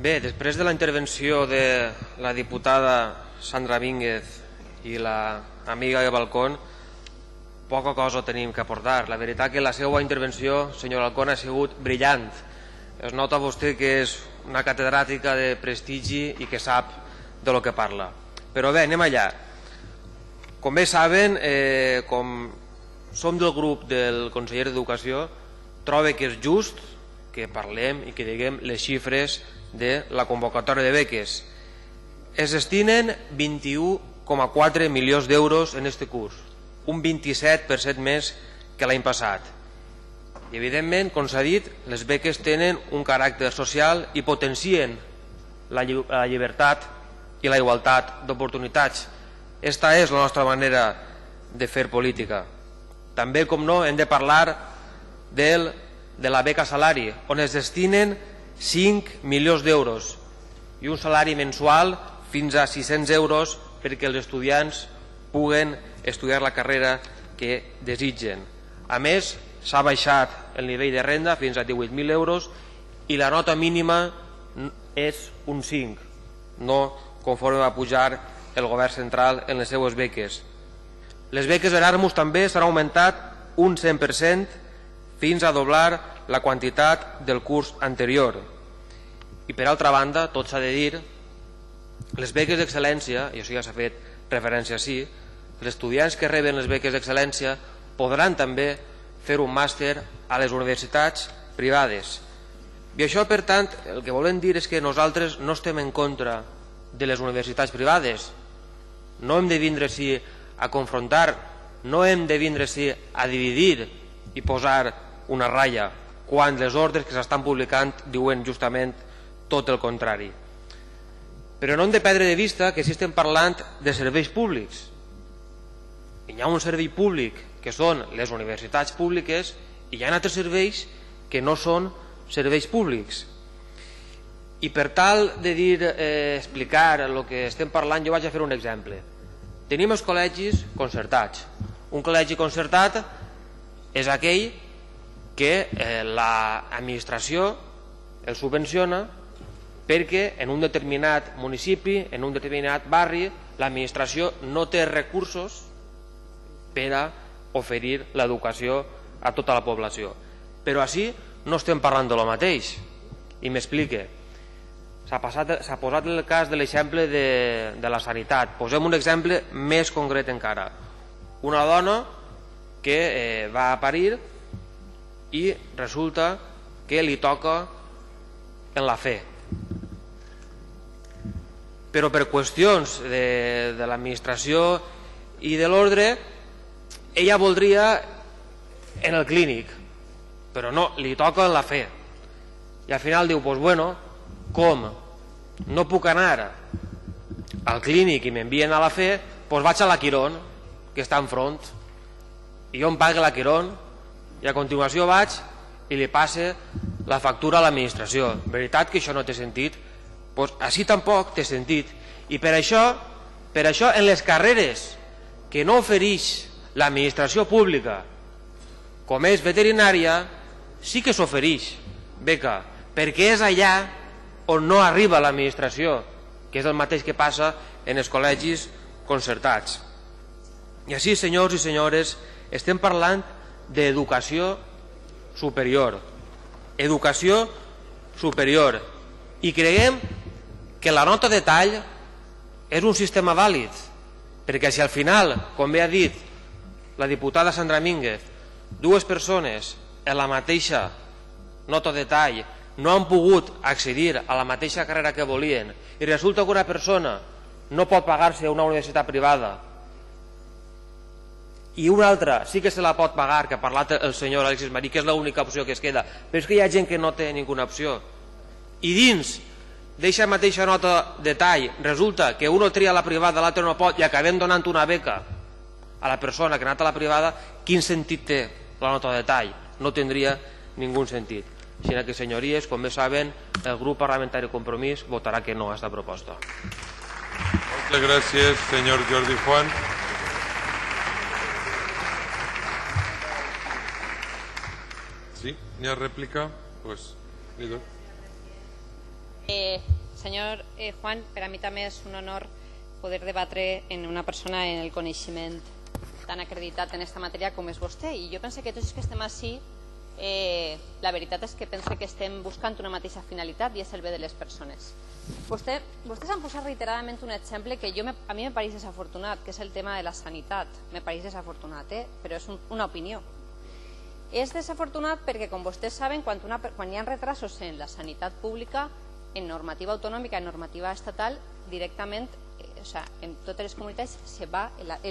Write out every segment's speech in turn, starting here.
Bé, després de la intervenció de la diputada Sandra Vínguez i l'amiga de Balcón, poca cosa tenim que aportar. La veritat que la seva intervenció, senyor Balcón, ha sigut brillant. Es nota vostè que és una catedràtica de prestigi i que sap de lo que parla. Però bé, anem allà. Com bé saben, com som del grup del conseller d'Educació, trobo que és just que parlem i que diguem les xifres de la convocatòria de beques. Es destinen 21,4 milions d'euros en aquest curs, un 27% més que l'any passat. I evidentment, com s'ha dit, les beques tenen un caràcter social i potencien la llibertat i la igualtat d'oportunitats. Esta és la nostra manera de fer política. També, com no, hem de parlar de la beca salari, on es destinen 5 milions d'euros i un salari mensual fins a 600 euros perquè els estudiants puguen estudiar la carrera que desitgen. A més, s'ha baixat el nivell de renda fins a 18.000 euros i la nota mínima és un 5, no conforme va pujar el govern central en les seues beques. Les beques Erasmus també s'han augmentat un 100% fins a doblar la quantitat del curs anterior. I per altra banda, tot s'ha de dir, les beques d'excel·lència, i això ja s'ha fet referència així, els estudiants que reben les beques d'excel·lència podran també fer un màster a les universitats privades. I això, per tant, el que volem dir és que nosaltres no estem en contra de les universitats privades. No hem de vindre així a confrontar, no hem de vindre així a dividir i posar una ratlla, quan les ordres que s'estan publicant diuen justament tot el contrari. Però no hem de perdre de vista que si estem parlant de serveis públics, hi ha un servei públic que són les universitats públiques i hi ha altres serveis que no són serveis públics. I per tal de explicar el que estem parlant, jo vaig a fer un exemple. Tenim els col·legis concertats. Un col·legi concertat és aquell que l'administració el subvenciona perquè en un determinat municipi, en un determinat barri, l'administració no té recursos per a oferir l'educació a tota la població. Però així no estem parlant de lo mateix. I m'explique. S'ha posat el cas de l'exemple de la sanitat. Posem un exemple més concret encara. Una dona que va a parir i resulta que li toca en la fe. Però per qüestions de l'administració i de l'ordre, ella voldria en el clínic, però no, li toca en la fe. I al final diu, doncs bueno, com no puc anar al clínic i m'envien a la fe, doncs vaig a la Quirón, que està enfront, i jo em pague la Quirón, i a continuació vaig i li passe la factura a l'administració. Veritat que això no té sentit? Doncs així tampoc té sentit. I per això en les carreres que no ofereix l'administració pública, com és veterinària, sí que s'ofereix beca, perquè és allà on no arriba l'administració, que és el mateix que passa en els col·legis concertats. I així, senyors i senyores, estem parlant d'educació superior. Educació superior. I creiem que la nota de tall és un sistema vàlid, perquè si al final, com bé ha dit la diputada Sandra Vínguez, dues persones en la mateixa nota de tall no han pogut accedir a la mateixa carrera que volien i resulta que una persona no pot pagar-se una universitat privada i una altra sí que se la pot pagar, que ha parlat el senyor Alexis Marí, que és l'única opció que es queda, però és que hi ha gent que no té ninguna opció. I dins d'aquesta mateixa nota de tall resulta que uno tria la privada, l'altre no pot, i acabem donant una beca a la persona que ha anat a la privada. Quin sentit té la nota de tall? No tindria ningú sentit. Així que, senyories, com bé saben, el grup parlamentari Compromís votarà que no a aquesta proposta. Moltes gràcies, senyor Jordi Juan. ¿Sí? ¿Ni a réplica? Pues, Lido. Senyor Juan, per a mi també és un honor poder debatre en una persona en el coneixement tan acreditat en aquesta matèria com és vostè. I jo penso que tots els que estem així, la veritat és que penso que estem buscant una mateixa finalitat i és el bé de les persones. Vostès han posat reiteradament un exemple que a mi me pareix desafortunat, que és el tema de la sanitat. Me pareix desafortunat, però és una opinió. És desafortunat perquè, com vostès saben, quan hi ha retrasos en la sanitat pública, en normativa autonòmica, en normativa estatal, directament, en totes les comunitats,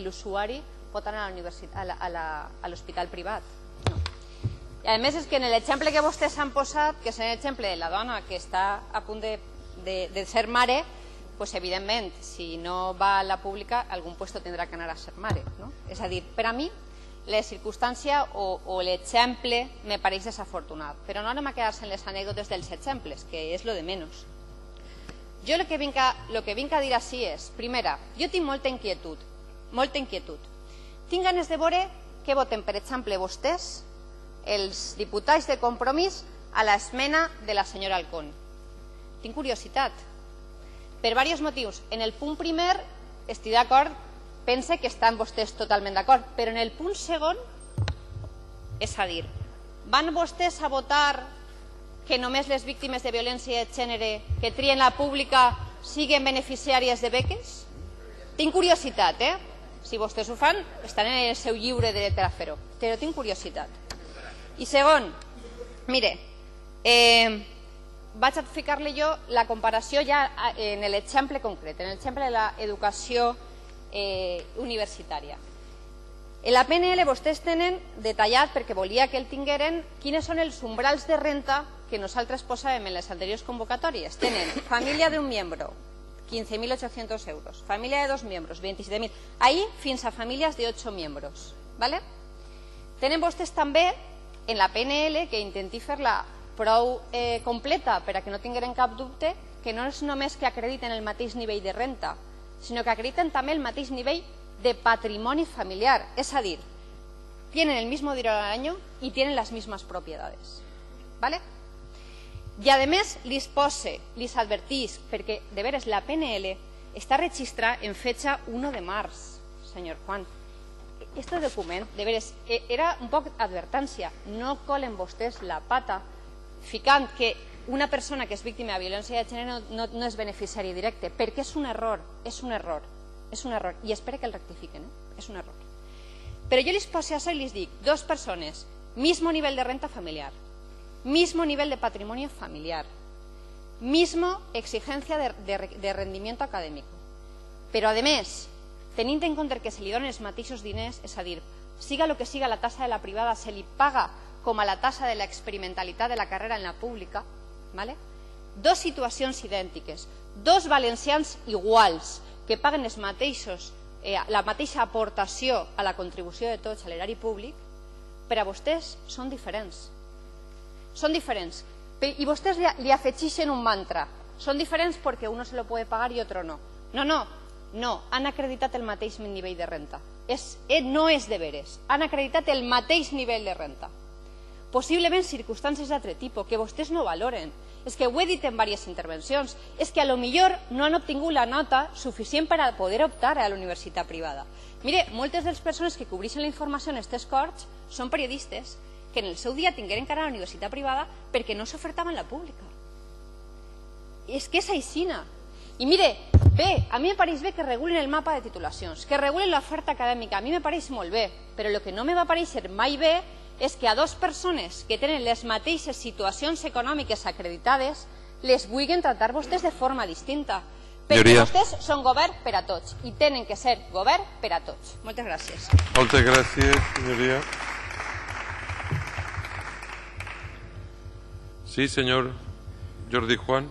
l'usuari pot anar a l'hospital privat. I a més és que en l'exemple que vostès han posat, que és l'exemple de la dona que està a punt de ser mare, evidentment, si no va a la pública, algun puesto tindrà que anar a ser mare. És a dir, per a mi, la circumstància o l'exemple me pareix desafortunat, però no anem a quedar-se en les anècdotes dels exemples, que és lo de menys. Jo el que vinc a dir així és, primera, jo tinc molta inquietud. Tinc ganes de veure què voten, per exemple, vostès, els diputats de Compromís, a l'esmena de la senyora Alcón. Tinc curiositat, per diversos motius. En el punt primer estic d'acord, pense que estan vostès totalment d'acord, però en el punt segon, és a dir, van vostès a votar que només les víctimes de violència de gènere que trien la pública siguin beneficiàries de beques? Tinc curiositat, Si vostès ho fan, estan en el seu lliure dret a fer-ho, però tinc curiositat. I segon, mire, vaig a ficar-li jo la comparació ja en l'exemple concret, en l'exemple de l'educació universitària. En la PNL vostès tenen detallat, perquè volia que el tingueren, quines són els umbrals de renta que nosaltres posàvem en les anteriors convocatòries. Tenen família d'un membre, 15.800 euros, família de 2 membres, 27.000, ahí fins a famílies de 8 membres. Tenen vostès també en la PNL, que intenti fer-la prou completa per a que no tingueren cap dubte, que no és només que acrediten el mateix nivell de renta, sinó que acrediten també el mateix nivell de patrimoni familiar. És a dir, tienen el mismo dinero al año y tienen las mismas propiedades. I a més, les advertís, perquè de veres la PNL està registrada en fecha 1 de març, senyor Juan. Este document, de veres, era un poc advertència. No colen vostès la pata ficant que una persona que és víctima de violència de gènere no és beneficiari directe, perquè és un error, i espero que el rectifiquen, és un error. Però jo les poso això i les dic, 2 persones, mismo nivel de renta familiar, mismo nivel de patrimonio familiar, mismo exigencia de rendimiento académico, però a més, tenint en compte que se li donen els mateixos diners, és a dir, siga el que siga la tassa de la privada, se li paga com a la tassa de l'experimentalitat de la carrera en la pública, 2 situacions idèntiques, 2 valencians iguals, que paguen la mateixa aportació a la contribució de tots a l'erari públic, per a vostès són diferents. Són diferents. I vostès li afegeixen un mantra. Són diferents perquè uno se lo puede pagar i otro no. No, han acreditat el mateix nivell de renta. No és de veres. Han acreditat el mateix nivell de renta. Possiblement circumstàncies d'altre tipus que vostès no valoren. És que ho he dit en diverses intervencions. És que a lo millor no han obtingut la nota suficient per a poder optar a la universitat privada. Mire, moltes de les persones que cobreixen la informació en aquestes corts són periodistes que en el seu dia tingueren que anar a la universitat privada perquè no s'ofertava en la pública. És que és aixina. I mire, a mi me pareix bé que regulen el mapa de titulacions, que regulen l'oferta acadèmica, a mi me pareix molt bé, però el que no me va pareixer mai bé és que a 2 persones que tenen les mateixes situacions econòmiques acreditades les vulguin tratar vostès de forma distinta, perquè vostès són govern per a tots i tenen que ser govern per a tots. Moltes gràcies. Moltes gràcies, senyoria. Sí, senyor Jordi Juan.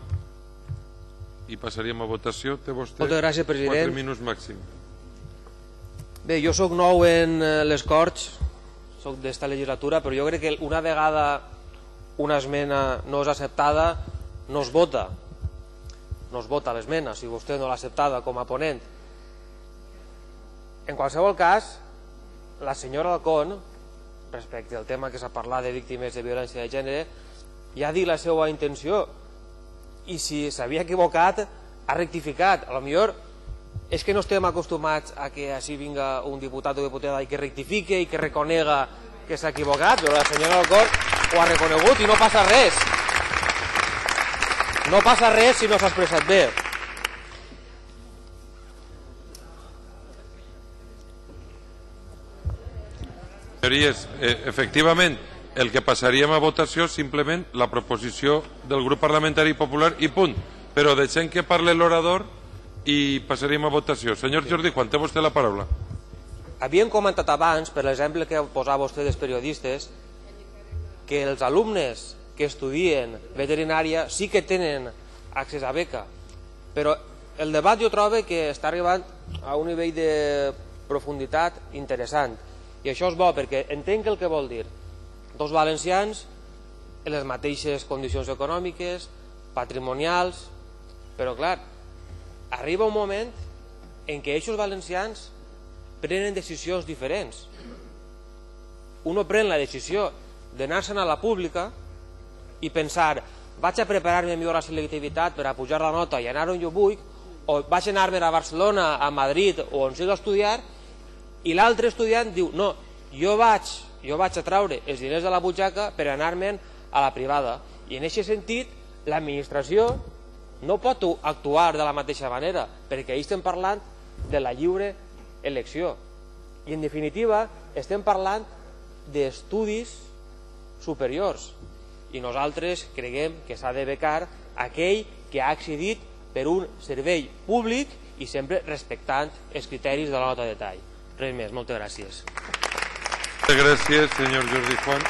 I passaríem a votació. Té vostè 4 minuts màxim. Bé, jo soc nou en les Corts, soc d'esta legislatura, però jo crec que una vegada una esmena no és acceptada, no es vota. No es vota l'esmena, si vostè no l'ha acceptada com a ponent. En qualsevol cas, la senyora Alcón, respecte al tema que s'ha parlat de víctimes de violència de gènere, ja ha dit la seva intenció. i si s'havia equivocat ha rectificat. A lo millor és que no estem acostumats a que així vinga un diputat o diputada i que rectifique i que reconega que s'ha equivocat, però la senyora Balcón ho ha reconegut i no passa res. No passa res si no s'ha expressat bé. Senyories, efectivament, el que passaríem a votació simplement la proposició del grup parlamentari popular i punt. Però deixem que parli l'orador i passaríem a votació. Senyor Jordi Juan, té vostè la paraula. Havíem comentat abans, per l'exemple que posava vostè dels periodistes, que els alumnes que estudien veterinària sí que tenen accés a beca, però el debat jo trobo que està arribant a un nivell de profunditat interessant, i això és bo perquè entenc el que vol dir. Dos valencians en les mateixes condicions econòmiques, patrimonials, però clar, arriba un moment en què aquests valencians prenen decisions diferents. Uno pren la decisió d'anar-se'n a la pública i pensar, vaig a preparar-me millor la selectivitat per a pujar la nota i anar on jo vull, o vaig anar-me a Barcelona, a Madrid o on sigui a estudiar, i l'altre estudiant diu, no, jo vaig a traure els diners de la butxaca per anar-me'n a la privada. I en aquest sentit, l'administració no pot actuar de la mateixa manera, perquè ahir estem parlant de la lliure elecció. I en definitiva, estem parlant d'estudis superiors. I nosaltres creiem que s'ha de becar aquell que ha accedit per un servei públic i sempre respectant els criteris de la nota de tall. Res més, moltes gràcies. Gràcies, senyor Jordi Juan.